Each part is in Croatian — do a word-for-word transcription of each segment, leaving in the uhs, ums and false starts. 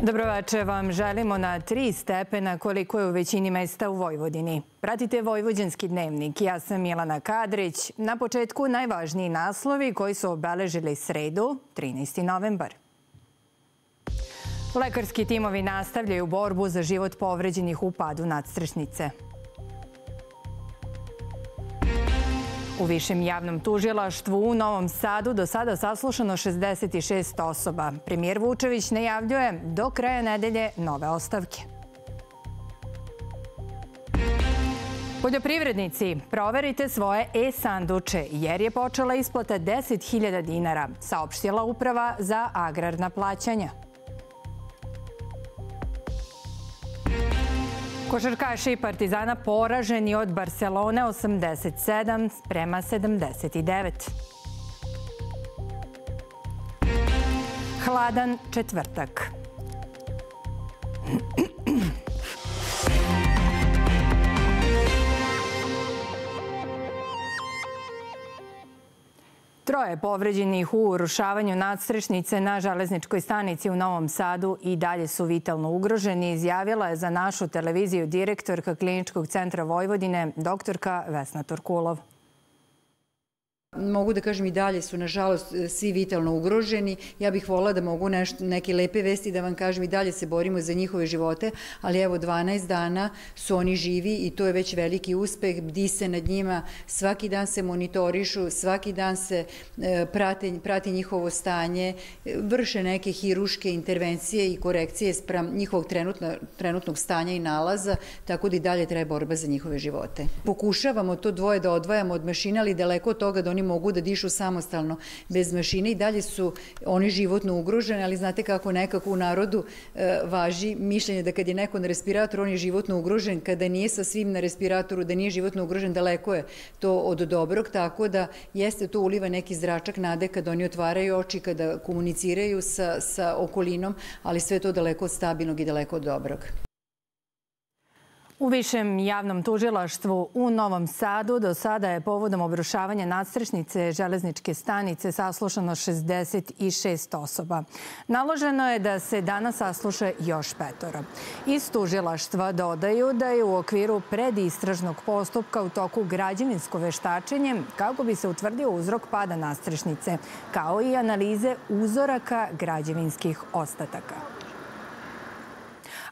Dobroveče vam želimo na tri stepena koliko je u većini mesta u Vojvodini. Pratite Vojvođanski dnevnik. Ja sam Milana Kadrić. Na početku najvažniji naslovi koji su obeležili sredu, trinaesti novembar. Lekarski timovi nastavljaju borbu za život povređenih u padu nadstrešnice. U Višem javnom tužilaštvu u Novom Sadu do sada saslušano šezdeset šest osoba. Premijer Vučević najavljuje do kraja nedelje nove ostavke. Poljoprivrednici, proverite svoje e-sanduče jer je počela isplata deset hiljada dinara, saopštila Uprava za agrarna plaćanja. Košarkaši Partizana poraženi od Barcelone osamdeset sedam prema sedamdeset devet. Hladan četvrtak. Troje povređenih u urušavanju nadstrešnice na železničkoj stanici u Novom Sadu i dalje su vitalno ugroženi, izjavila je za našu televiziju direktorka Kliničkog centra Vojvodine, doktorka Vesna Torkulov. Mogu da kažem i dalje su, nažalost, svi vitalno ugroženi. Ja bih volila da mogu neke lepe vesti da vam kažem i dalje se borimo za njihove živote, ali evo dvanaest dana su oni živi i to je već veliki uspeh. Bdi se nad njima, svaki dan se monitorišu, svaki dan se prati njihovo stanje, vrše neke hiruške intervencije i korekcije sprem njihovog trenutnog stanja i nalaza, tako da i dalje treba borba za njihove živote. Pokušavamo to dvoje da odvajamo od mašine, ali daleko od toga da oni mogu da dišu samostalno bez mašine i dalje su oni životno ugroženi, ali znate kako nekako u narodu važi mišljenje da kad je neko na respiratoru, on je životno ugrožen, kada nije sa svim na respiratoru, da nije životno ugrožen, daleko je to od dobrog, tako da jeste to uliva neki zračak nade kada oni otvaraju oči, kada komuniciraju sa okolinom, ali sve to daleko od stabilnog i daleko od dobrog. U Višem javnom tužilaštvu u Novom Sadu do sada je povodom obrušavanja nadstrešnice železničke stanice saslušano šezdeset šest osoba. Naloženo je da se danas sasluša još petoro. Iz tužilaštva dodaju da je u okviru predistražnog postupka u toku građevinsko veštačenje kako bi se utvrdio uzrok pada nadstrešnice, kao i analize uzoraka građevinskih ostataka.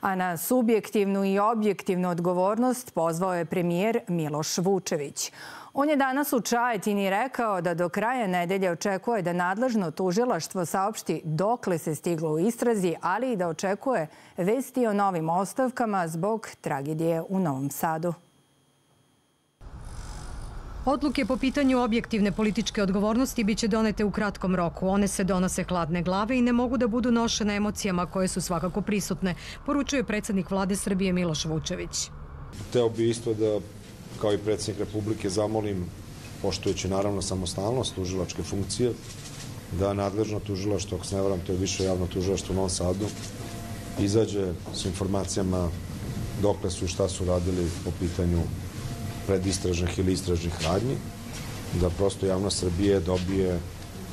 A na subjektivnu i objektivnu odgovornost pozvao je premijer Miloš Vučević. On je danas u Čajetini rekao da do kraja nedelje očekuje da nadležno tužilaštvo saopšti dokle se stiglo u istrazi, ali i da očekuje vesti o novim ostavkama zbog tragedije u Novom Sadu. Odluke po pitanju objektivne političke odgovornosti biće donete u kratkom roku. One se donose hladne glave i ne mogu da budu nošene emocijama koje su svakako prisutne, poručuje predsjednik Vlade Srbije Miloš Vučević. Hteo bi isto da, kao i predsjednik Republike, zamolim, poštujući naravno samostalnost tužilačke funkcije, da nadležno tužilaštvo, ako se ne varam, to je Više javno tužilaštvo u Novom Sadu, izađe s informacijama dokle su i šta su radili po pitanju predistražnih ili istražnih radnji, da prosto javnost Srbije dobije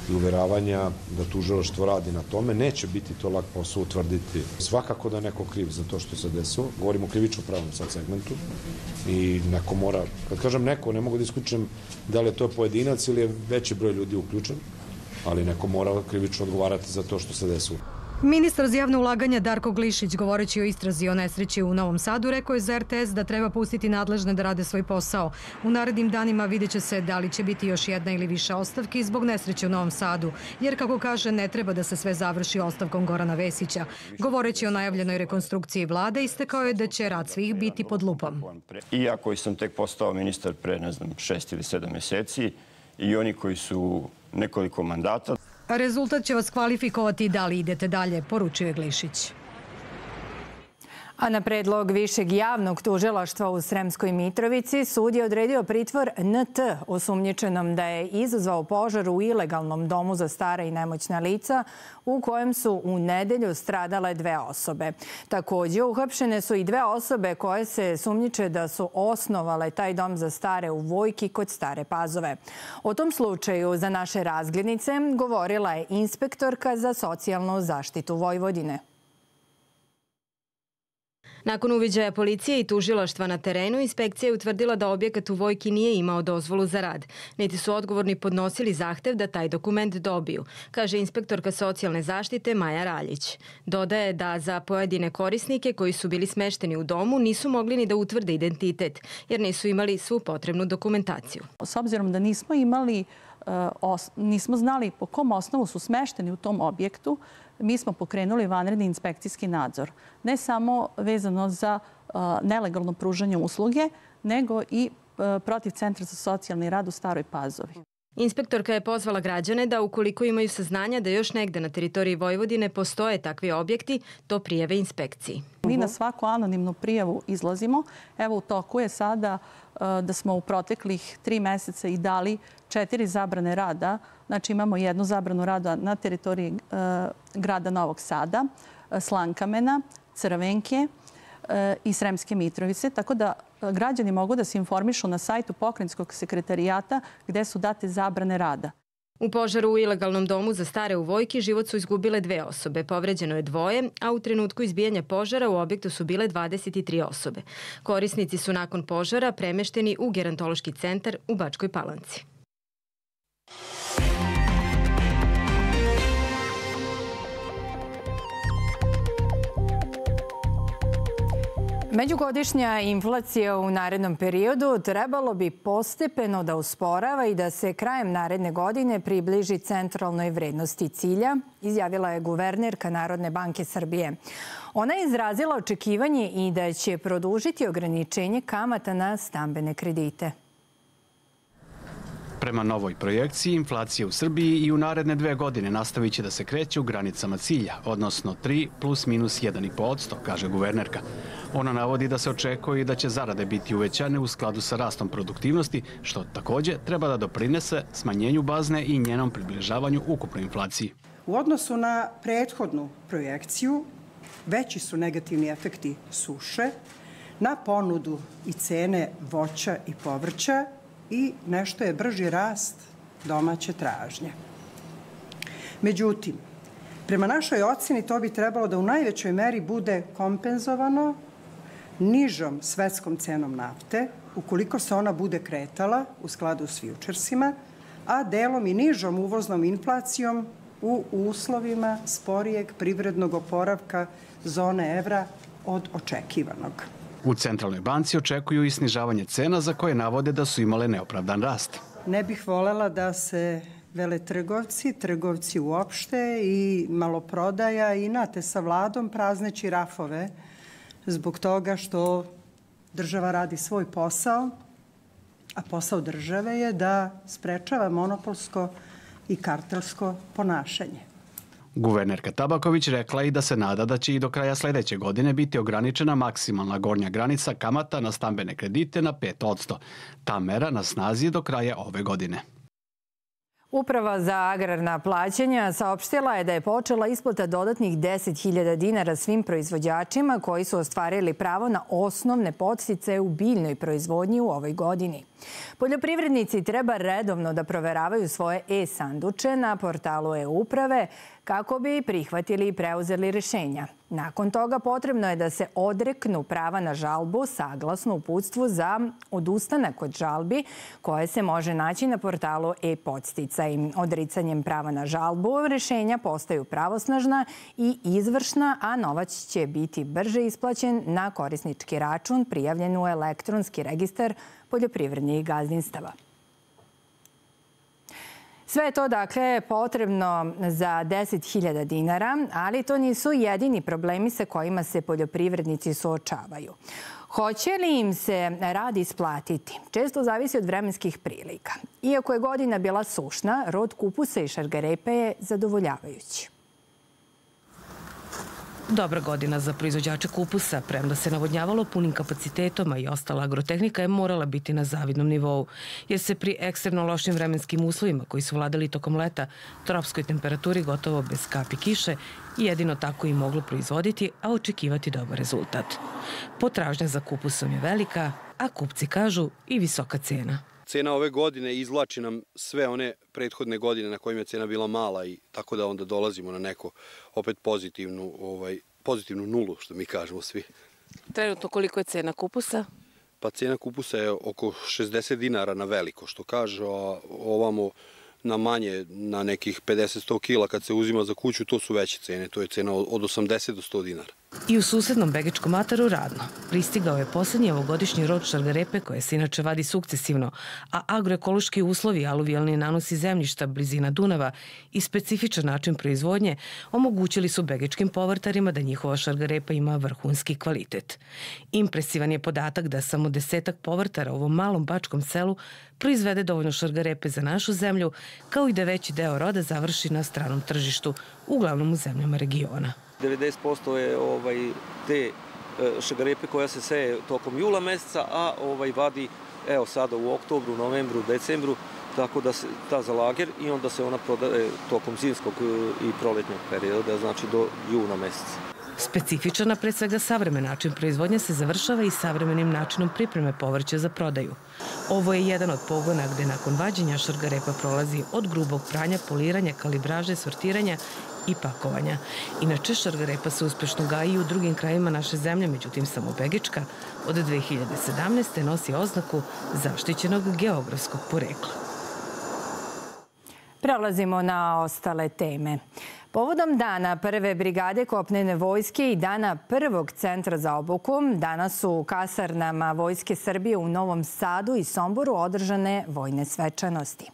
i uveravanja da tužilaštvo radi na tome. Neće biti to lak posao utvrditi. Svakako da je neko kriv za to što se desilo. Govorimo o krivično pravom sad segmentu i neko mora, kad kažem neko, ne mogu da isključim da li je to pojedinac ili je veći broj ljudi uključen, ali neko mora krivično odgovarati za to što se desilo. Ministar za javno ulaganja Darko Glišić, govoreći o istrazi o nesreći u Novom Sadu, rekao je za er te es da treba pustiti nadležne da rade svoj posao. U narednim danima vidjet će se da li će biti još jedna ili više ostavki zbog nesreće u Novom Sadu, jer, kako kaže, ne treba da se sve završi ostavkom Gorana Vesića. Govoreći o najavljenoj rekonstrukciji vlade, istakao je da će rad svih biti pod lupom. Iako sam tek postao ministar pre, ne znam, šest ili sedam mjeseci, i oni koji su nekoliko mandata, rezultat će vas kvalifikovati da li idete dalje, poručuje Glišić. A na predlog Višeg javnog tužilaštva u Sremskoj Mitrovici sud je odredio pritvor en te osumnjičenom da je izazvao požar u ilegalnom domu za stara i nemoćna lica u kojem su u nedelju stradale dve osobe. Također uhapšene su i dve osobe koje se sumnjiče da su osnovale taj dom za stare u Vojki kod Stare Pazove. O tom slučaju za naše razglednice govorila je inspektorka za socijalnu zaštitu Vojvodine. Nakon uviđaja policije i tužilaštva na terenu, inspekcija je utvrdila da objekat u Vojki nije imao dozvolu za rad, niti su odgovorni podnosili zahtev da taj dokument dobiju, kaže inspektorka socijalne zaštite Maja Raljić. Dodaje da za pojedine korisnike koji su bili smešteni u domu nisu mogli ni da utvrde identitet, jer nisu imali svu potrebnu dokumentaciju. S obzirom da nismo imali, nismo znali po kom osnovu su smešteni u tom objektu, mi smo pokrenuli vanredni inspekcijski nadzor. Ne samo vezano za nelegalno pružanje usluge, nego i protiv Centra za socijalni rad u Staroj Pazovi. Inspektorka je pozvala građane da ukoliko imaju saznanja da još negde na teritoriji Vojvodine postoje takvi objekti, to prijave inspekciji. Mi na svaku anonimnu prijavu izlazimo. Evo u toku je sada da smo u proteklih tri meseca i dali četiri zabrane rada. Znači imamo jednu zabranu rada na teritoriji grada Novog Sada, Slankamena, Crvenke i Sremske Mitrovice. Tako da građani mogu da se informišu na sajtu Pokrajinskog sekretarijata gde su date zabrane rada. U požaru u ilegalnom domu za stare u Vojki život su izgubile dve osobe, povređeno je dvoje, a u trenutku izbijanja požara u objektu su bile dvadeset tri osobe. Korisnici su nakon požara premešteni u gerontološki centar u Bačkoj Palanci. Međugodišnja inflacija u narednom periodu trebalo bi postepeno da usporava i da se krajem naredne godine približi centralnoj vrednosti cilja, izjavila je guvernerka Narodne banke Srbije. Ona je izrazila očekivanje i da će produžiti ograničenje kamata na stambene kredite. Prema novoj projekciji, inflacija u Srbiji i u naredne dve godine nastavit će da se kreće u granicama cilja, odnosno tri plus minus jedan i po posto, kaže guvernerka. Ona navodi da se očekuje i da će zarade biti uvećane u skladu sa rastom produktivnosti, što takođe treba da doprinese smanjenju bazne i njenom približavanju ukupnoj inflaciji. U odnosu na prethodnu projekciju, veći su negativni efekti suše na ponudu i cene voća i povrća i nešto je brži rast domaće tražnje. Međutim, prema našoj oceni to bi trebalo da u najvećoj meri bude kompenzovano nižom svetskom cenom nafte, ukoliko se ona bude kretala u skladu s fjučersima, a delom i nižom uvoznom inflacijom u uslovima sporijeg privrednog oporavka zone evra od očekivanog. U Centralnoj banci očekuju i snižavanje cena za koje navode da su imale neopravdan rast. Ne bih volela da se veletrgovci, trgovci uopšte i maloprodaja inate sa vladom prazneći rafove zbog toga što država radi svoj posao, a posao države je da sprečava monopolsko i kartelsko ponašanje. Guvernerka Tabaković rekla i da se nada da će i do kraja sledeće godine biti ograničena maksimalna gornja granica kamata na stambene kredite na pet posto. Ta mera na snazi je do kraja ove godine. Uprava za agrarna plaćanja saopštila je da je počela isplata dodatnih deset hiljada dinara svim proizvođačima koji su ostvarili pravo na osnovne podsticaje u biljnoj proizvodnji u ovoj godini. Poljoprivrednici treba redovno da proveravaju svoje e-sanduče na portalu e-uprave kako bi prihvatili i preuzeli rešenja. Nakon toga potrebno je da se odreknu prava na žalbu saglasno uputstvu za odustanak od žalbi koje se može naći na portalu e-podsticaj. Odricanjem prava na žalbu rešenja postaju pravosnažna i izvršna, a novac će biti brže isplaćen na korisnički račun prijavljen u elektronski registar poljoprivrednih gazdinstava. Sve je to, dakle, potrebno za deset hiljada dinara, ali to nisu jedini problemi sa kojima se poljoprivrednici suočavaju. Hoće li im se rad isplatiti? Često zavisi od vremenskih prilika. Iako je godina bila sušna, rod kupusa i šargarepe je zadovoljavajući. Dobra godina za proizvođače kupusa, premda se navodnjavalo punim kapacitetom, a i ostala agrotehnika je morala biti na zavidnom nivou, jer se pri ekstremno lošim vremenskim uslovima koji su vladali tokom leta, tropskoj temperaturi gotovo bez kapi kiše, jedino tako i moglo proizvoditi, a očekivati dobar rezultat. Potražnja za kupusom je velika, a kupci kažu i visoka cena. Cena ove godine izvlači nam sve one prethodne godine na kojima je cena bila mala i tako da onda dolazimo na neko opet pozitivnu, ovaj, pozitivnu nulu, što mi kažemo svi. Trenutno koliko je cena kupusa? Pa cena kupusa je oko šezdeset dinara na veliko, što kaže, a ovamo na manje, na nekih pedeset do sto kila kad se uzima za kuću, to su veće cene. To je cena od osamdeset do sto dinara. I u susednom Begečkom ataru radno. Pristigao je poslednji ovogodišnji rod šargarepe koje se inače vadi sukcesivno, a agroekološki uslovi, aluvijalni nanosi zemljišta, blizina Dunava i specifičan način proizvodnje omogućili su begečkim povrtarima da njihova šargarepa ima vrhunski kvalitet. Impresivan je podatak da samo desetak povrtara u ovom malom bačkom selu proizvede dovoljno šargarepe za našu zemlju, kao i da veći deo roda završi na stranom tržištu, uglavnom u zemljama regiona. devedeset posto je ovaj, te šargarepe koja se seje tokom jula meseca, a ovaj, vadi evo sada u oktobru, novembru, decembru, tako da se ta za lager i onda se ona prodaje tokom zimskog i proletnjeg perioda, znači do juna meseca. Specifičan, a pre svega savremen način proizvodnje se završava i savremenim načinom pripreme povrća za prodaju. Ovo je jedan od pogona gde nakon vađenja šargarepa prolazi od grubog pranja, poliranja, kalibraže, sortiranja i pakovanja. Inače, šargarepa se uspešno gaji i u drugim krajima naše zemlje, međutim samo Begečka od dve hiljade sedamnaeste. nosi oznaku zaštićenog geografskog porekla. Prelazimo na ostale teme. Povodom dana prve brigade kopnene vojske i dana prvog centra za obuku, danas su u kasarnama Vojske Srbije u Novom Sadu i Somboru održane vojne svečanosti.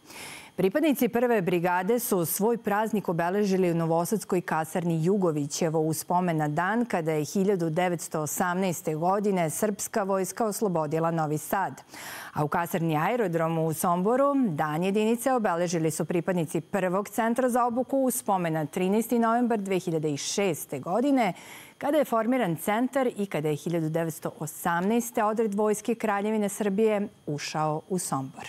Pripadnici prve brigade su svoj praznik obeležili u novosadskoj kasarni Jugovićevo u spomen na dan kada je hiljadu devetsto osamnaeste. godine srpska vojska oslobodila Novi Sad. A u kasarni Aerodromu u Somboru dan jedinice obeležili su pripadnici prvog centra za obuku u spomen na trinaesti novembar dve hiljade šeste. godine kada je formiran centar i kada je hiljadu devetsto osamnaeste. odred Vojske Kraljevine Srbije ušao u Sombor.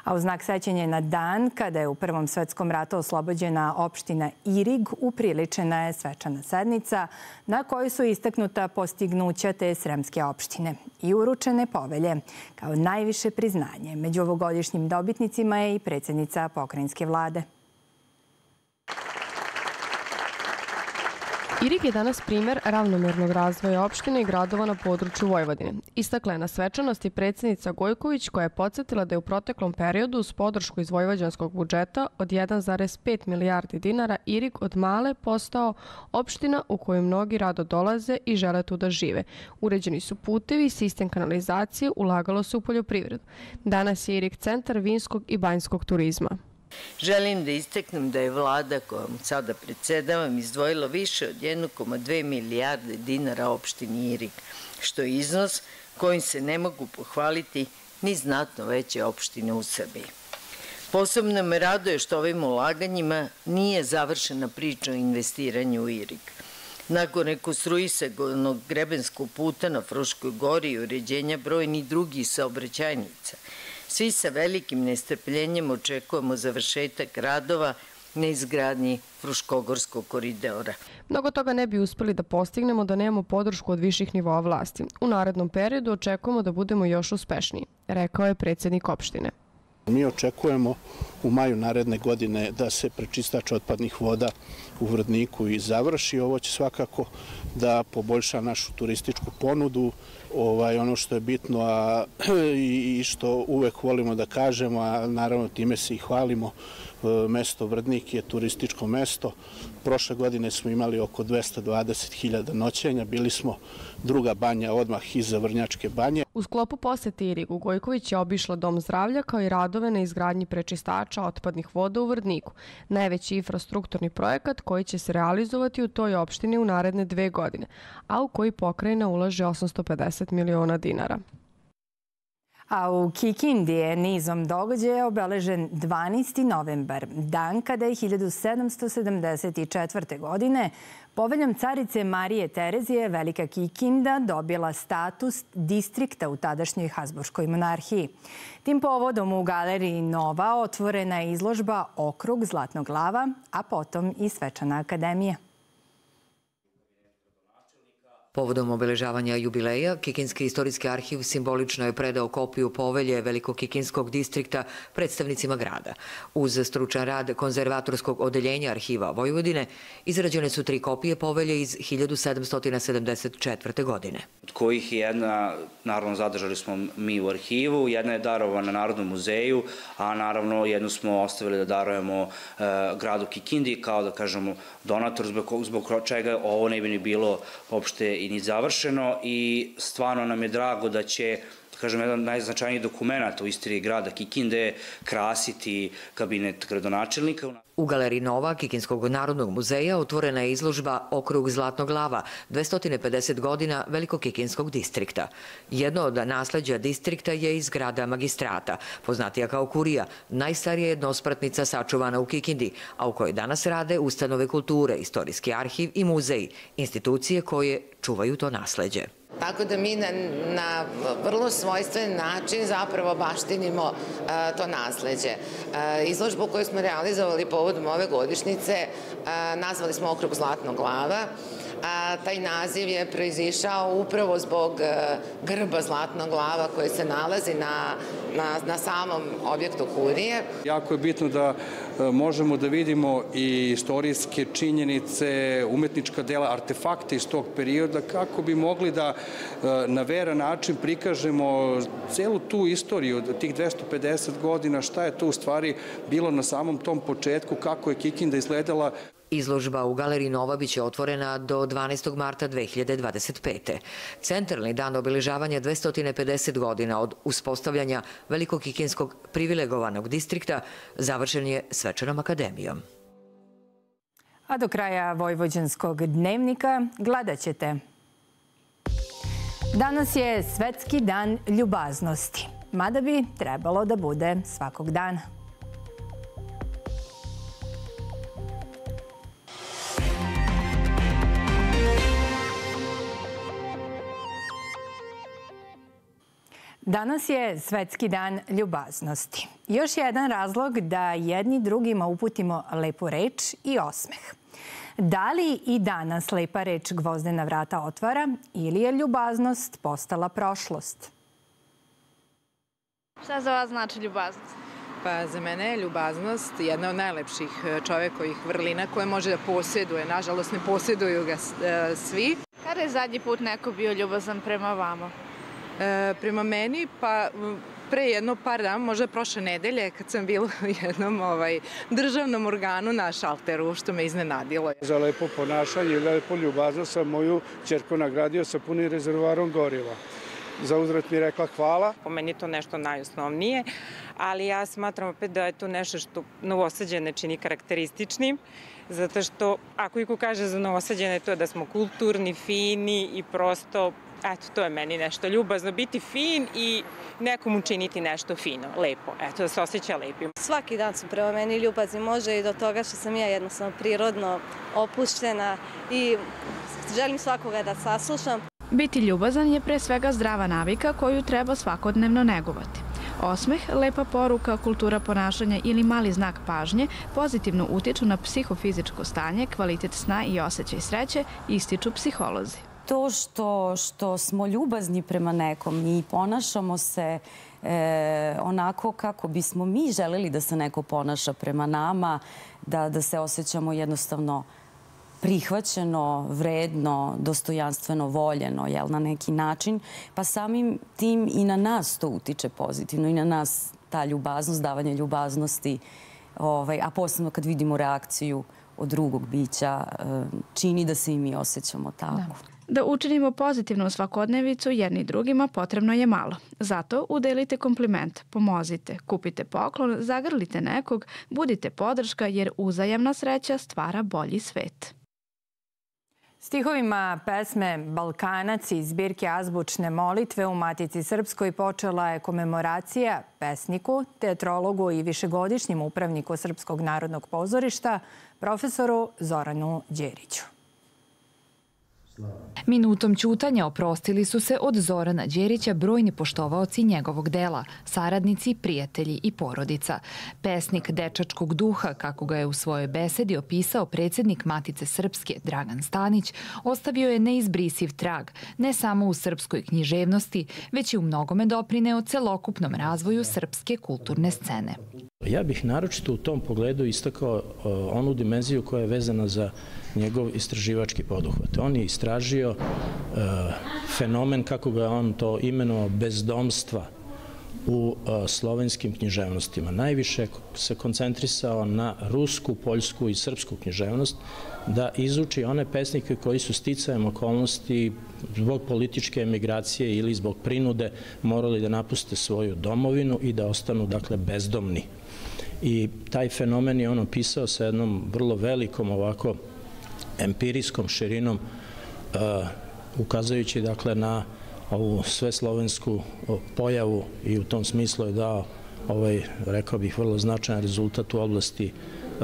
A u znak sećanja na dan kada je u Prvom svetskom ratu oslobođena opština Irig, upriličena je svečana sednica na kojoj su istaknuta postignuća te sremske opštine i uručene povelje kao najviše priznanje. Među ovogodišnjim dobitnicima je i predsjednica pokrajinske vlade. Irig je danas primer ravnomernog razvoja opštine i gradova na području Vojvodine. Istakla je na svečanosti predsjednica Gojković koja je podsjetila da je u proteklom periodu uz podršku iz vojvođanskog budžeta od jedan zarez pet milijardi dinara Irig od male postao opština u kojoj mnogi rado dolaze i žele tu da žive. Uređeni su putevi, sistem kanalizacije, ulagalo se u poljoprivredu. Danas je Irig centar vinskog i banjskog turizma. Želim da istaknem da je vlada kojom sada predsedavam izdvojila više od jedne zarez dve milijarde dinara opštini Irig, što je iznos kojim se ne mogu pohvaliti ni znatno veće opštine u Srbiji. Posebno me raduje što ovim ulaganjima nije završena priča o investiranju u Irig. Nakon rekonstruisanog grebenskog puta na Fruškoj gori i uređenja brojnih drugih saobraćajnica, svi sa velikim nestrpljenjem očekujemo završetak radova na izgradnji Fruškogorskog koridora. Mnogo toga ne bi uspeli da postignemo da nemamo podršku od viših nivoa vlasti. U narednom periodu očekujemo da budemo još uspešniji, rekao je predsjednik opštine. Mi očekujemo u maju naredne godine da se prečistač otpadnih voda u Vrdniku i završi. Ovo će svakako da poboljša našu turističku ponudu. Ovaj, ono što je bitno a, i što uvek volimo da kažemo, a naravno time se i hvalimo, mesto Vrdnik je turističko mesto. Prošle godine smo imali oko dvesta dvadeset hiljada noćenja, bili smo druga banja odmah iza Vrnjačke banje. U sklopu posete Irigu Gojković je obišla Dom zdravlja kao i radove na izgradnji prečistača otpadnih voda u Vrdniku, najveći infrastrukturni projekat koji će se realizovati u toj opštini u naredne dve godine, a u koji pokrajina ulaže osamsto pedeset miliona dinara. A u Kikindi je nizom događaja obeležen dvanaesti novembar, dan kada je hiljadu sedamsto sedamdeset četvrte. godine poveljom carice Marije Terezije Velika Kikinda dobila status distrikta u tadašnjoj Habsburškoj monarhiji. Tim povodom u galeriji Nova otvorena je izložba Okrug Zlatnog lava, a potom i Svečana akademija. Povodom obeležavanja jubileja, Kikinski istorijski arhiv simbolično je predao kopiju povelje Velikokikinskog distrikta predstavnicima grada. Uz stručan rad konzervatorskog odeljenja arhiva Vojvodine, izrađene su tri kopije povelje iz hiljadu sedamsto sedamdeset četvrte. godine. Od kojih je jedna, naravno zadržali smo mi u arhivu, jedna je darovana Narodnom muzeju, a naravno jednu smo ostavili da darujemo gradu Kikindi kao da kažemo donator, zbog čega ovo ne bi ni bilo uopšte i ni završeno i stvarno nam je drago da će, kažem, jedan od najznačajnijih dokumenta u istoriji grada Kikinde krasiti kabinet gradonačelnika. U Galeriji Nova Kikinskog narodnog muzeja otvorena je izložba Okrug Zlatnog lava, dvesta pedeset godina Velikokikinskog distrikta. Jedno od nasleđa distrikta je iz grada Magistrata, poznatija kao Kurija, najstarija jednospratnica sačuvana u Kikindi, a u kojoj danas rade ustanove kulture, istorijski arhiv i muzeji, institucije koje čuvaju to nasleđe. Tako da mi na vrlo svojstven način zapravo baštinimo to nasleđe. Izložbu koju smo realizovali povodom ove godišnjice nazvali smo Okrug Zlatnog lava. Taj naziv je proizišao upravo zbog grba Zlatnog lava koji se nalazi na samom objektu Kurije. Jako je bitno da možemo da vidimo i istorijske činjenice, umetnička dela, artefakte iz tog perioda, kako bi mogli da na veran način prikažemo celu tu istoriju od tih dvesta pedeset godina, šta je to u stvari bilo na samom tom početku, kako je Kikinda izgledala. Izložba u Galeriji Nova biće otvorena do dvanaestog marta dve hiljade dvadeset pete. Centralni dan obeležavanja dvesta pedeset godina od uspostavljanja Velikokikinskog privilegovanog distrikta završen je svečanom akademijom. A do kraja Vojvođanskog dnevnika gledat ćete. Danas je Svetski dan ljubaznosti, mada bi trebalo da bude svakog dana. Danas je Svetski dan ljubaznosti. Još jedan razlog da jedni drugima uputimo lepu reč i osmeh. Da li i danas lepa reč gvozdena vrata otvara ili je ljubaznost postala prošlost? Šta za vas znači ljubaznost? Pa za mene je ljubaznost jedna od najlepših čovekovih vrlina koje može da posjeduje. Nažalost, ne posjeduju ga svi. Kada je zadnji put neko bio ljubazan prema vama? Prema meni, pa pre jedno par dana, možda prošle nedelje, kad sam bila u jednom državnom organu na šalteru, što me iznenadilo. Za lepo ponašanje i lepo ljubaznost sam moju ćerku nagradio sa punim rezervoarom goriva. Za uzvrat mi rekla hvala. Po meni je to nešto najosnovnije, ali ja smatram opet da je to nešto što Novosađane čini karakterističnim, zato što ako iko kaže za Novosađane to je da smo kulturni, fini i prosto, eto, to je meni nešto ljubazno, biti fin i nekom učiniti nešto fino, lepo, eto, da se osjeća lepim. Svaki dan su prema meni ljubazni, može i do toga što sam ja jednostavno prirodno opuštena i želim svakoga da saslušam. Biti ljubazan je pre svega zdrava navika koju treba svakodnevno negovati. Osmeh, lepa poruka, kultura ponašanja ili mali znak pažnje pozitivno utiču na psihofizičko stanje, kvalitet sna i osjećaj sreće, ističu psiholozi. To što, što smo ljubazni prema nekom i ponašamo se e, onako kako bismo mi želeli da se neko ponaša prema nama, da, da se osjećamo jednostavno prihvaćeno, vredno, dostojanstveno, voljeno, jel, na neki način, pa samim tim i na nas to utiče pozitivno i na nas ta ljubaznost, davanje ljubaznosti, ovaj, a posebno kad vidimo reakciju od drugog bića, čini da se i mi osjećamo tako. Da. Da učinimo pozitivnu svakodnevicu jedni drugima potrebno je malo. Zato udelite kompliment, pomozite, kupite poklon, zagrlite nekog, budite podrška jer uzajamna sreća stvara bolji svet. Stihovima pesme Balkanac iz zbirke Azbučne molitve u Matici Srpskoj počela je komemoracija pesniku, teatrologu i višegodišnjem upravniku Srpskog narodnog pozorišta, profesoru Zoranu Đeriću. Minutom ćutanja oprostili su se od Zorana Đerića brojni poštovaoci njegovog dela, saradnici, prijatelji i porodica. Pesnik dečačkog duha, kako ga je u svojoj besedi opisao predsjednik Matice Srpske Dragan Stanić, ostavio je neizbrisiv trag, ne samo u srpskoj književnosti, već i u mnogome doprineo celokupnom razvoju srpske kulturne scene. Ja bih naročito u tom pogledu istakao onu dimenziju koja je vezana za njegov istraživački poduhvat. On je istražio fenomen, kako ga on to imenovao, bezdomstva u slovenskim književnostima. Najviše se koncentrisao na rusku, poljsku i srpsku književnost, da izuči one pesnike koji su sticajem okolnosti zbog političke emigracije ili zbog prinude morali da napuste svoju domovinu i da ostanu, dakle, bezdomni. I taj fenomen je on opisao sa jednom vrlo velikom ovako empirijskom širinom, ukazujući, dakle, na ovu sveslovensku pojavu i u tom smislu je dao ovaj, rekao bih, vrlo značajan rezultat u oblasti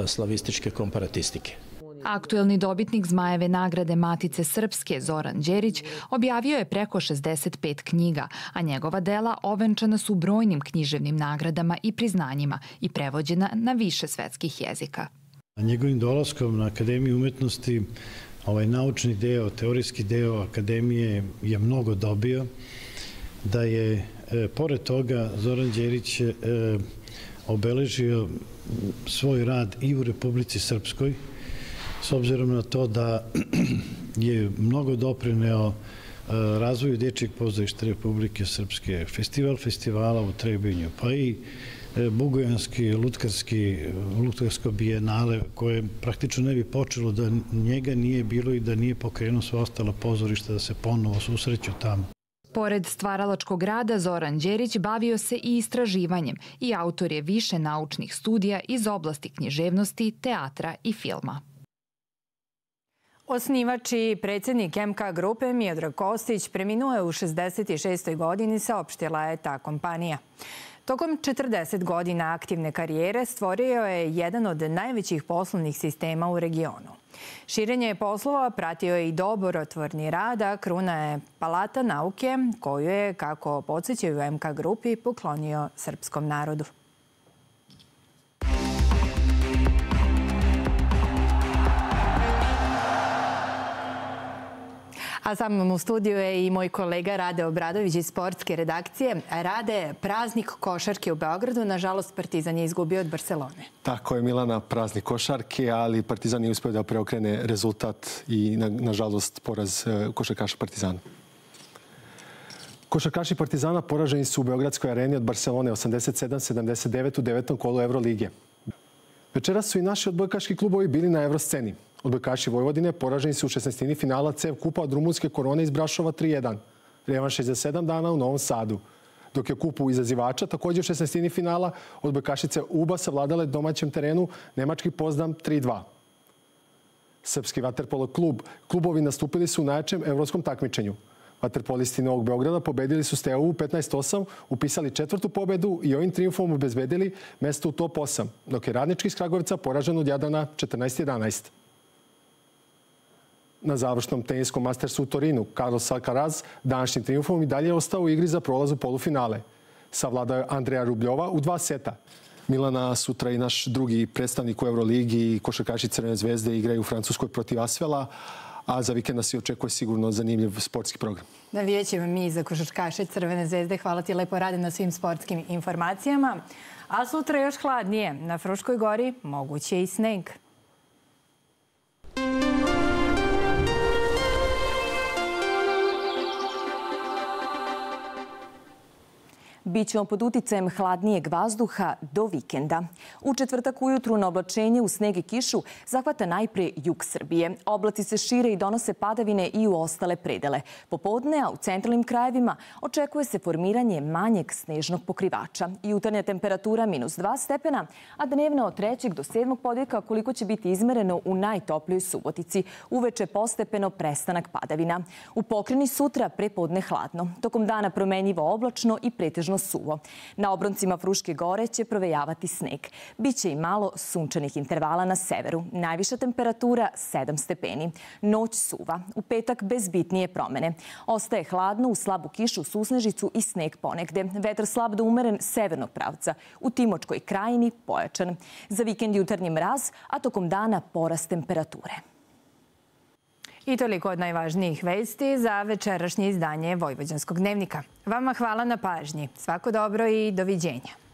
slavističke komparatistike. Aktuelni dobitnik Zmajeve nagrade Matice Srpske Zoran Đerić objavio je preko šezdeset pet knjiga, a njegova dela ovenčana su brojnim književnim nagradama i priznanjima i prevođena na više svetskih jezika. Njegovim dolaskom na Akademiju umetnosti ovaj naučni deo, teorijski deo Akademije je mnogo dobio, da je pored toga Zoran Đerić obeležio svoj rad i u Republici Srpskoj, s obzirom na to da je mnogo doprineo razvoju dječjeg pozorišta Republike Srpske, festival festivala u Trebinju, pa i Bugojanski, Lutkarsko bijenale, koje praktično ne bi počelo da njega nije bilo i da nije pokrenuo sva ostala pozorišta da se ponovo susreću tamo. Pored stvaralačkog rada, Zoran Đerić bavio se i istraživanjem i autor je više naučnih studija iz oblasti književnosti, teatra i filma. Osnivač i predsjednik M K grupe Miodrag Kostić preminuo je u šezdeset šestoj godini, saopštila je ta kompanija. Tokom četrdeset godina aktivne karijere stvorio je jedan od najvećih poslovnih sistema u regionu. Širenje poslova pratio je i dobrotvorni rad, a kruna je Palata nauke, koju je, kako podsjećaju u M K grupi, poklonio srpskom narodu. A sa mnom u studiju je i moj kolega Rade Obradović iz sportske redakcije. Rade, praznik košarke u Beogradu. Nažalost, Partizan je izgubio od Barcelone. Tako je, Milana, praznik košarke, ali Partizan je uspio da preokrene rezultat i, nažalost, poraz košarkaša Partizana. Košarkaši Partizana poraženi su u Beogradskoj areni od Barcelone osamdeset sedam sedamdeset devet u devetom kolu Evrolige. Večeras su i naši odbojkaški klubovi bili na evrosceni. Odbojkaši Vojvodine poraženi su u šesnaestini finala C E V kupa od rumunske Korone iz Brašova tri jedan. Revanš je za sedam dana u Novom Sadu. Dok je kupu izazivača, također u šesnaestini finala, odbojkašice U B A savladale domaćem terenu nemački Pozdam tri dva. Srpski vaterpolo klub. Klubovi nastupili su u najjačem evropskom takmičenju. Vaterpolisti Novog Beograda pobedili su Steaua petnaest osam, upisali četvrtu pobedu i ovim triumfom obezbedili mesto u top osam, dok je Radnički iz Kragujevca poražen od Jadrana četrnaest jedanaest. Na završnom teniskom Mastersu u Torinu, Carlos Alcaraz današnjim triumfom i dalje je ostao u igri za prolaz u polufinale. Savladao je Andreja Rubljova u dva seta. Milana, sutra i naš drugi predstavnik u Euroligi i košarkaši Crvene zvezde igraju u Francuskoj protiv Asvela, a za vikend nas i očekuje sigurno zanimljiv sportski program. Navijat ćemo mi za košarkaše Crvene zvezde. Hvala ti lepo, Rade, na svim sportskim informacijama. A sutra još hladnije. Na Fruškoj gori moguće i sneg. Bićemo pod uticajem hladnijeg vazduha do vikenda. U četvrtak ujutru na oblačenje u sneg i kišu zahvata najpre jug Srbije. Oblaci se šire i donose padavine i u ostale predele. Popodne, a u centralnim krajevima, očekuje se formiranje manjeg snežnog pokrivača. Jutarnja temperatura minus dva stepena, a dnevna od trećeg do sedmog podvijeka koliko će biti izmereno u najtoplijoj Subotici. Uveče postepeno prestanak padavina. U Pokreni sutra prepodne hladno. Tokom dana promenjivo oblačno i pretežno delimično suvo. Na obroncima Fruške gore će provejavati sneg. Biće i malo sunčanih intervala na severu. Najviša temperatura sedam stepeni. Noć suva. U petak bez bitnije promene. Ostaje hladno, u slabu kišu, susnežicu i sneg ponegde. Vetar slab do umeren severnog pravca. U Timočkoj krajini pojačan. Za vikend jutarnji mraz, a tokom dana porast temperature. I toliko od najvažnijih vesti za večerašnje izdanje Vojvođanskog dnevnika. Vama hvala na pažnji. Svako dobro i doviđenja.